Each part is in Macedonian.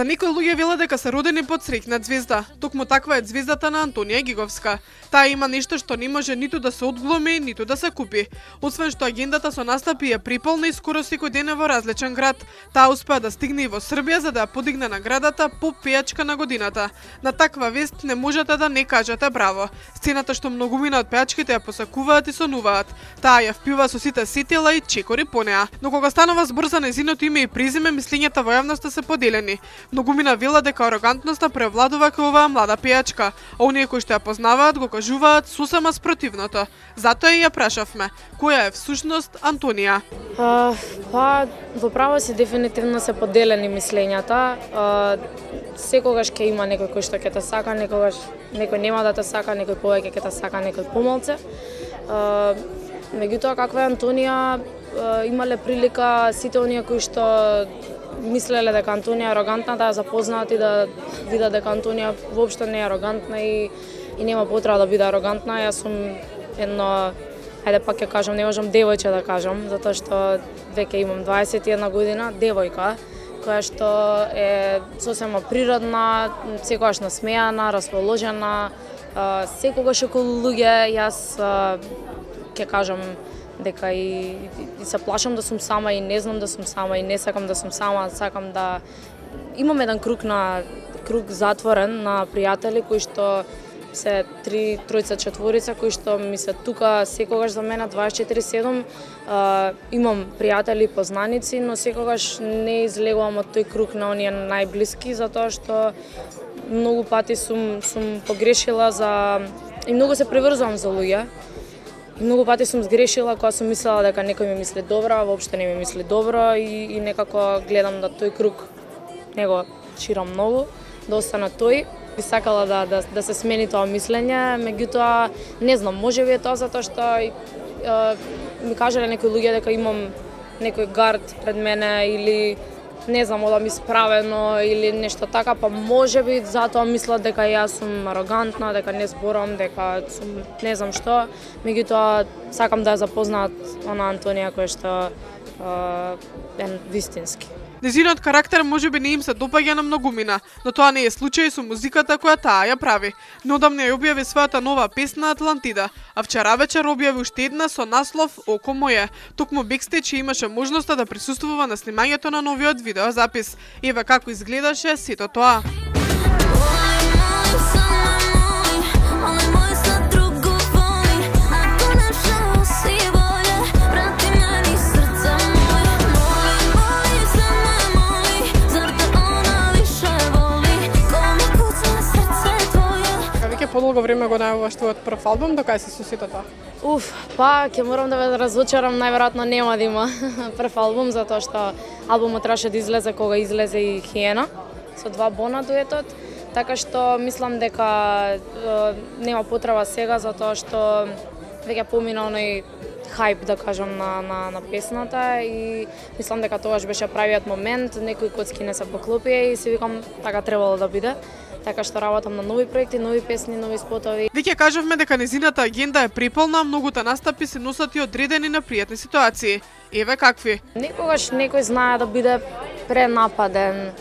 За некои луѓе велат дека се родени под среќна ѕвезда. Токму таква е ѕвездата на Антонија Гиговска. Таа има нешто што не може ниту да се одгломи, ниту да се купи. Освен што агендата со настапи е приполна и скоро секој ден е во различен град, таа успеа да стигне и во Србија за да ја подигне наградата по пејачка на годината. На таква вест не можете да не кажете браво. Сцената што многумина од пејачките ја посакуваат и сонуваат. Таа ја впива со сите сетила и чекори по неа. Но кога станува збор за нејзиното име и презиме, мислењата во јавноста се поделени. Многумина велат дека арогантноста превладува кај оваа млада пејачка, а оние кои што ја познаваат го кажуваат сосема спротивното. Затоа и ја прашавме, која е всушност Антонија? Во право си дефинитивно се поделени мислењата. Секогаш ќе има некој кој што ќе те сака, некој нема да те сака, некој повеќе ќе те сака, некој помалце. Меѓутоа, каква е Антонија, имале прилика сите оние кои што мислеле дека Антонија е арогантна да ја запознаат и да видат дека Антонија воопшто не е арогантна и нема потреба да биде арогантна. Јас сум едно, ајде пак ќе кажам, не можам девојче да кажам, затоа што веќе имам 21 година, девојка, која што е сосема природна, секогаш насмејана, расположена, секогаш околу луѓе. Јас ќе кажам дека и се плашам да сум сама и не знам да сум сама и не сакам да сум сама, сакам да имам еден круг затворен на пријатели кои што се тројца, четворица кои што ми се тука секогаш за мене 24/7. Имам пријатели, познаници, но секогаш не излегувам од тој круг на оние најблиски, затоа што многу пати сум погрешила и многу се преврзувам за луѓе. И многу пати сум сгрешила кога сум мислела дека некој ми мисли добро, а воопшто не ми мисли добро и некако гледам да тој круг не го ширам многу, да остана тој. Би сакала да се смени тоа мислење, меѓутоа не знам, можеби е тоа затоа што ми кажале некои луѓе дека имам некој гард пред мене или не знам, одам исправено или нешто така, па можеби затоа мислат дека јас сум арогантна, дека не зборам, дека сум не знам што. Меѓутоа сакам да ја запознаат она Антонија која што е вистински. Незиниот карактер можеби не им се допаѓа на многумина, но тоа не е случај со музиката која таа ја прави. Неодамна ја објави својата нова песна Атлантида, а вчера вечер објави уште една со наслов Око моје. Токму бекстејдж имаше можноста да присуствува на снимањето на новиот видеозапис. Еве како изгледаше сето тоа. Подолго време го најавуваш твојот прв албум, докај се со сето тоа? Ќе морам да ве разочарам, најверојатно нема да има прв албум, затоа што албумот требаше да излезе кога излезе и Хиена, со 2 бона дуетот, така што мислам дека нема потреба сега, затоа што веќе помина оној хајп, да кажам, на песната и мислам дека тогаш беше правиот момент, некои коцки не се поклопија и си викам така требало да биде. Така што работам на нови проекти, нови песни, нови спотови. Веќе кажавме дека незината агенда е приполна, многута настапи се носат и одредени на пријатни ситуации. Еве какви? Некогаш некој знае да биде пренападен,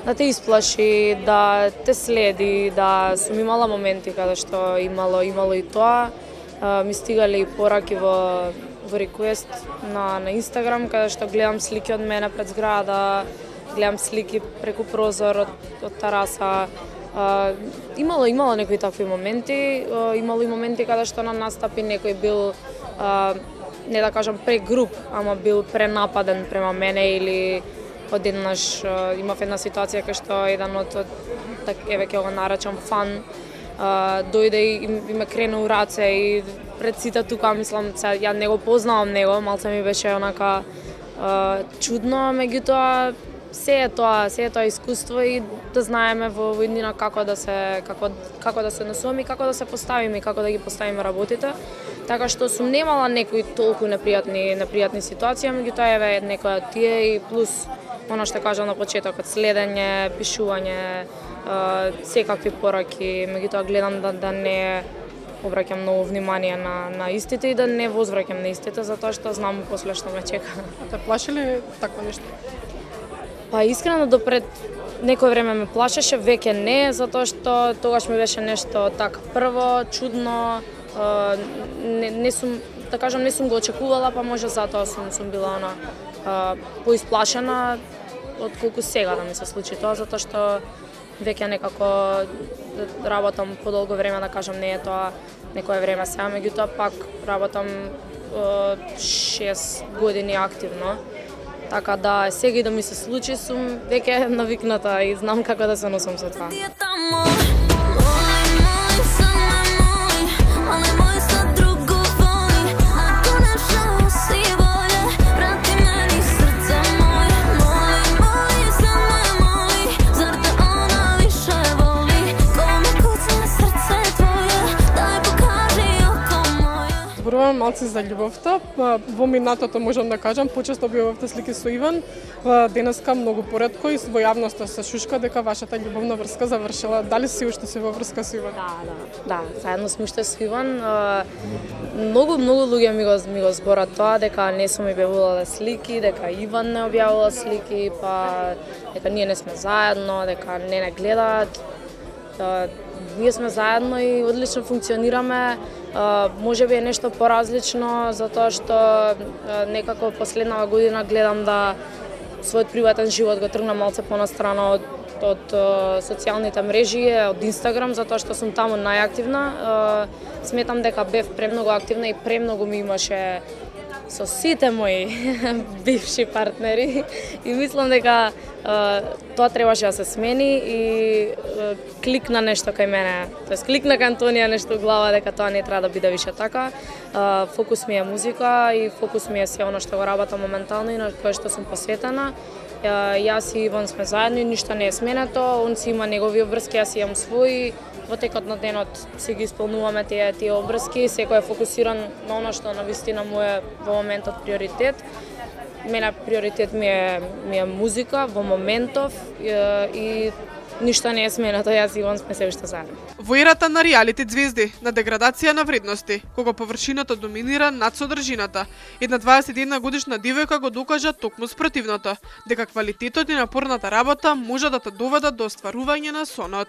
да те исплаши, да те следи, да сум имала моменти каде што имало и тоа. Ми стигали и пораки во реквест на Инстаграм, каде што гледам слики од мене пред зграда, гледам слики преку прозор од тераса. Имало некои такви моменти, имало и моменти каде што на настапи некој бил, не да кажам прегруп, ама бил пренападен према мене или одеднаш имав една ситуација кај што еден од, еве ќе го наречам фан, дојде и ме крену у раце и пред сите тука, мислам, ја не го познавам него, малце ми беше онака чудно, меѓутоа се е тоа искуство и да знаеме во иднина како да се насуваме и како да се поставиме и како да ги поставиме работите. Така што сум немала некои толку непријатни ситуации, меѓутоа еве некоја од тие и плюс она што кажам на почетокот, следење, пишување, секакви пораки, меѓутоа гледам да не обраќам многу внимание на истите и да не возвраќам на истите, затоа што знам после што ме чека. Те плаши ли такво нешто? Па искрено допред некој време ме плашеше, веќе не, затоа што тогаш ми беше нешто така прво, чудно, не сум, да кажам, не сум го очекувала, па може затоа сум била поисплашена отколку сега да ми се случи тоа, затоа што веќе некако работам подолго време, да кажам, не е тоа некое време сега, меѓутоа пак работам 6 години активно. Така да сега и да ми се случи сум веќе навикната и знам како да се носам со тоа. Зборувам малце за љубовта. Во минатото можам да кажам, почесто објавувавте слики со Иван. Денеска многу поретко и во јавноста се шушка дека вашата љубовна врска завршила. Дали си уште се во врска со Иван? Да, заедно сме уште со Иван. Многу луѓе ми го зборат тоа, дека не сум објавувала слики, дека Иван не објавува слики, па дека ние не сме заедно, дека не гледаат. Ние сме заедно и одлично функционираме. Може би е нешто поразлично, затоа што некако последнава година гледам да својот приватен живот го тргнам малце понастрана од социјалните мрежи, од Инстаграм, затоа што сум таму најактивна. Сметам дека бев премногу активна и премногу ми имаше со сите мои бивши партнери и мислам дека тоа требаше да се смени и кликна нешто кај мене, тоест кликна кај Антонија нешто во глава дека тоа не треба да биде више така. Фокус ми е музика и фокус ми е се оно што го работам моментално и на кое што сум посветена. Јас и Иван сме заедно и ништо не е сменето, он си има негови обврски, јас имам своји. Во текот на денот си ги исполнуваме тие обврски, секој е фокусиран на оно што навистина му е во моментот приоритет. Мене приоритет ми е музика во моментов и ништо не е сменето, јас и Иван сме се уште заедно. Во ерата на реалити звезди, на деградација на вредности, кога површината доминира над содржината, една 21 годишна девојка го докажа токму спротивното, дека квалитетот и напорната работа може да те доведат до остварување на сонот.